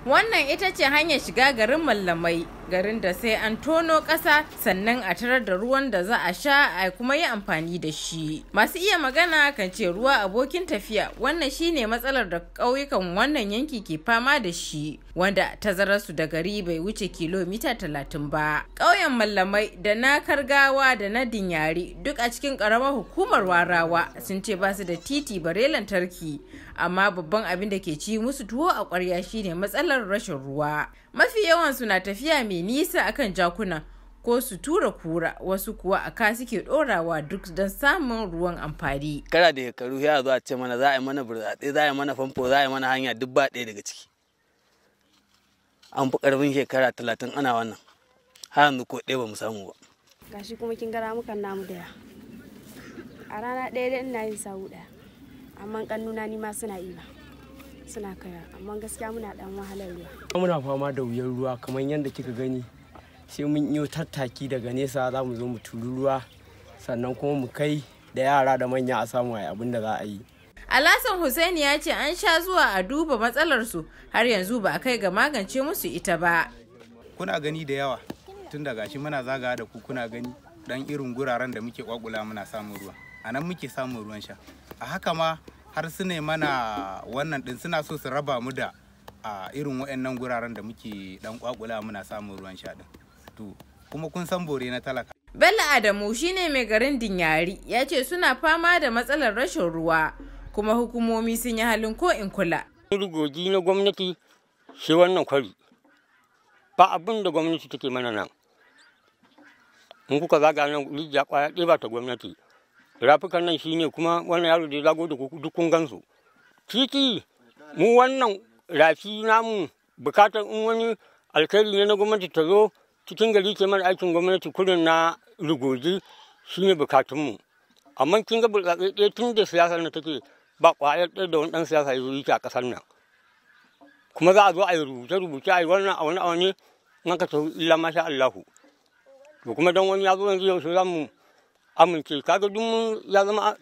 Wannan ita ce hanyar shiga garin Mallamai, garin da sai an tono ƙasa sannan a tarar da ruwan da za a sha a kuma yi amfani da shi. Masu iya magana kan ce ruwa abokin tafiya, wannan shine matsalar da ƙauyukan wannan yanki ke fama da shi, wanda tazararsu da gari bai wuce kilomita 30 ba. Ƙauyen Mallamai da na Kargawa da na Dinyari duk a cikin ƙaramar hukumar Warawa sun ce ba su da titi bare lantarki, amma babban abin da ke ci musu tuwo a ƙwarya shine matsalar rashin ruwa. Mafi yawan su na tafiya mai nisa akan jakuna ko su tura kura, wasu kuwa a ka suke dorawa duk don samun ruwan amfani. Kara da shekaru ya zo a ce mana za a yi mana burtsatse, za a yi mana famfo, za a yi mana hanya, duk ba ɗaya daga ciki. An fi ƙarfin shekara 30 ana wannan, har yanzu ko ɗaya ba mu samu ba. Gashi kuma kin gara mukan namu da a rana ɗaya dai ina yin sawu ɗaya, amma ƙannuna ni ma suna yi ba. Suna kaya, amma gaskiya muna dan wahalar ruwa. Muna fama da wuyar ruwa kamar yadda kika gani, sai mun yi tattaki daga nesa za mu zo mu turi ruwa, sannan kuma mu kai da yara da manya a samu ayi abin da za a yi. Alhassan Hussaini ya ce an sha zuwa a duba matsalar su, har yanzu ba a kai ga magance musu ita ba. Kuna gani da yawa tun daga shi muna zagawa da ku, kuna gani dan irin guraren da muke kwakula muna samun ruwa. A nan muke samun ruwan sha. A haka ma har su ne mana wannan din suna so su raba mu da a irin waɗannan guraren da muke dan kwakula muna samun ruwan sha din. To kuma kun san bore na talaka. Bello Adamu shine mai garin Dinyari ya ce suna fama da matsalar rashin ruwa kuma hukumomi sun yi halin ko in kula. Rugogi na gwamnati shi wannan kwari ba abin da gwamnati take mana nan. In kuka zaga nan rijiya kwaya ɗaya ba ta gwamnati. Rafukan nan shine kuma wannan yaro da ya zago da duk kun gansu. Titi mu wannan rafi namu bukatar in wani alkhairi ne na gwamnati ta zo cikin gari ke mana aikin gwamnati kurin na rugoji shine bukatunmu. Amma kin ga burtsatse ɗaya tun da siyasar nan take ba ƙwayar ɗaya da wani ɗan siyasa ya zo yi a ƙasar nan. Kuma za a zo a yi rubuce-rubuce a yi wannan a wani a wani in aka tafi illa masha Allahu. To kuma don wani ya zo yanzu yaushe za mu amince, kaga duk ya zama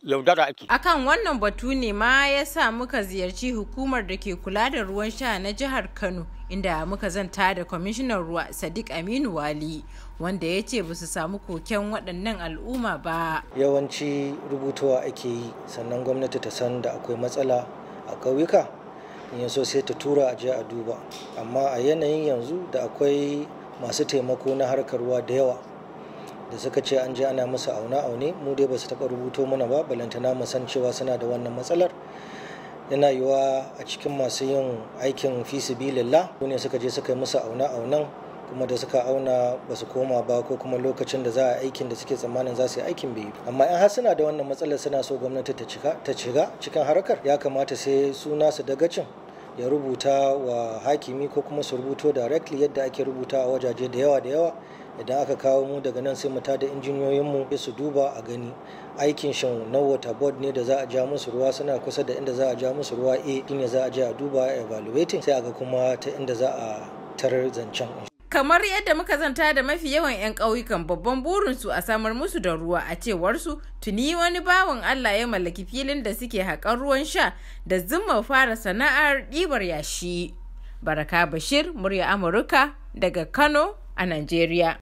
yaudara ake. Akan wannan batu ne ma ya sa muka ziyarci hukumar da ke kula da ruwan sha na jihar Kano, inda muka zanta da kwamishinan ruwa Sadiq Aminu Wali, wanda ya ce ba su samu koken waɗannan al'umma ba. Yawanci rubutuwa ake yi, sannan gwamnati ta san da akwai matsala a ƙauyuka, in so sai ta tura a je a duba. Amma a yanayin yanzu da akwai masu taimako na harkar ruwa da yawa da suka ce an je ana musu aune-aune, mu dai ba su taɓa rubuto mana ba, balantana mu san cewa suna da wannan matsalar. Yana yiwuwa a cikin masu yin aikin fisibilillah ne suka je suka yi musu aune-aunen, kuma da suka auna ba su koma ba, ko kuma lokacin da za a aikin da suke tsammanin za su yi aikin bai yi. Amma in har suna da wannan matsalar suna so gwamnati ta shiga cikin harkar, ya kamata sai su nasu dagacin ya rubuta wa hakimi ko kuma su rubuto directly yadda ake rubuta a wajaje da yawa da yawa. Idan aka kawo mu daga nan sai mu tada injiniyoyinmu su duba a gani aikin shin na water board ne da za a ja musu ruwa, suna kusa da inda za a ja musu ruwa, shine za a je a duba a evaluating, sai a ga kuma ta inda za a tarar zancen. Kamar yadda muka zanta da mafi yawan 'yan ƙauyukan, babban burinsu a samar musu da ruwa. A cewarsu tuni wani bawan Allah ya mallaki filin da suke haƙar ruwan sha da zuma fara sana'ar ɗibar yashi. Baraka Bashir, murya Amurka daga Kano a Najeriya.